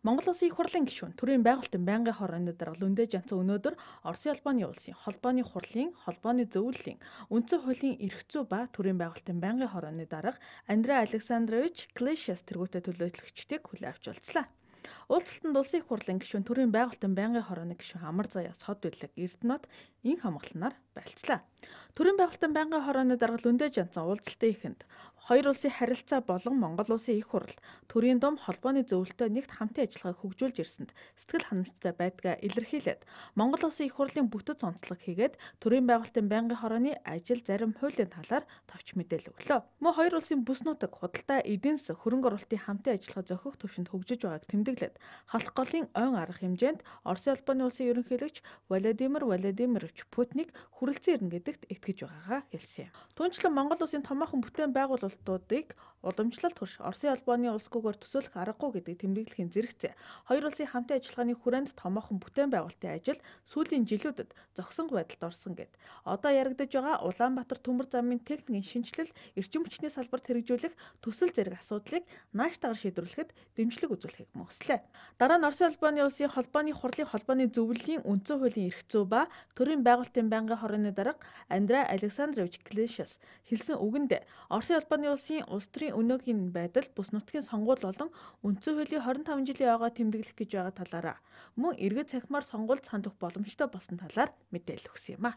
Монгол Улсын их хурлын гишүүн төрийн байгуулалтын байнгын хорооны дарга Лүндэ Жанцан өнөөдөр Оросын албаны улсын холбооны хурлын холбооны зөвлөлийн үндсэн хуулийн эрх зүй ба төрийн байгуулалтын байнгын хорооны дарга Андрей Александрович Клещас тэргүүтээ төлөөлөгчдийг хүлээн авч уулзлаа. Уулзалтанд улсын их хурлын гишүүн төрийн байгуулалтын байнгын хорооны гишүүн Амар Заяа Сод Бүлэг Эрдэнэт ин хамгаалснаар байлцлаа. Төрийн байгуулалтын байнгын хорооны дарга Лүндэ Жанцан уулзалтын эхэнд хоёр улсын харилцаа болон Монгол улсын их хурл төрийн дом холбооны зөвлөлтөд нэгт хамтын ажиллагааг хөгжүүлж ирсэнд сэтгэл ханамжтай байдгаа илэрхийлээд Монгол улсын их хурлын бүтэц онцлог хийгээд төрийн байгуулалтын байнгын хорооны ажил зарим хуулийн талаар товч мэдээлэл өглөө. Мөн хоёр улсын бүс нутаг худалдаа эдийн засаг хөрөнгө оруулалтын хамтын ажиллагаа зохих төвшөнд хөгжиж байгааг тэмдэглээд халах голын ойн арга хэмжээнд Оросын албаны улсын ерөнхийлөгч Владимир Владимирович Путинийг хүрэлцэн ирнэ гэдэгт итгэж байгаагаа хэлсэн юм. Түүнчлэн Монгол улсын томоохон бүтээн байгуулалтуудыг уламжлалт хөрш Оросын албаны улсгүйгээр төсөөлөх аргагүй гэдгийг тэмдэглэхийн зэрэгцээ хоёр улсын хамтын ажиллагааны хүрээнд томоохон бүтээн байгуулалтын ажил сүүлийн жилүүдэд зогсонгүй байдалд орсон гэд. Одоо яригдж байгаа Улаанбаатар төмөр замын техникийн шинжилэл, эрчим хүчний салбарт хэрэгжүүлэх төсөл зэрэг асуудлыг нааштайгаар шийдвэрлэхэд дэмжлэг үзүүлэхийг мөслөө. Дараа нь Оросын албаны улсын холбооны хурлын холбооны зөвлөлийн үндсэн хуулийн эрх зүй ба төрийн байгуулалтын байнгын хорооны дарга Андрей Александрович Клещас хэлсэн үгэнд Оросын албаны улсын улс төрийн өнөөгийн байдал бүс нутгийн сонгуул болон үндсэн хуулийн 25 жилийн ойгоо тэмдэглэх гэж байгаа талаараа мөн эргэж цахимаар сонгуульд сандах боломжтой болсон талаар мэдээлэл өгсөн юм а.